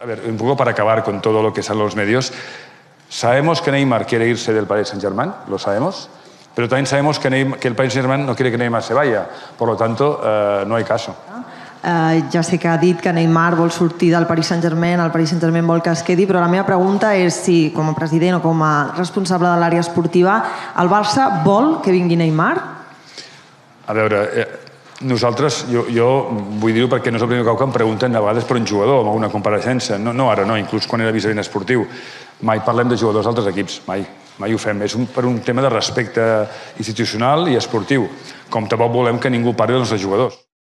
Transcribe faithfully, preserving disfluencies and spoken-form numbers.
A ver, un poco para acabar con todo lo que sale en los medios, sabemos que Neymar quiere irse del Paris Saint-Germain, lo sabemos, pero también sabemos que, Neymar, que el Paris Saint-Germain no quiere que Neymar se vaya, por lo tanto, eh, no hay caso. Uh, ja sé que ha dit que Neymar vol sortir del Paris Saint-Germain, el Paris Saint-Germain vol que es quedi, però la meva pregunta és si, com a president o com a responsable de l'àrea esportiva, el Barça vol que vingui Neymar? A veure, eh, nosaltres, jo, jo vull dir-ho perquè no és el primer cop que em pregunten a vegades per un jugador amb alguna compareixença. No, no ara, no, inclús quan era vicepresident esportiu. Mai parlem de jugadors d'altres equips, mai. Mai ho fem. És un, per un tema de respecte institucional i esportiu. Com tampoc volem que ningú parli dels nostres jugadors.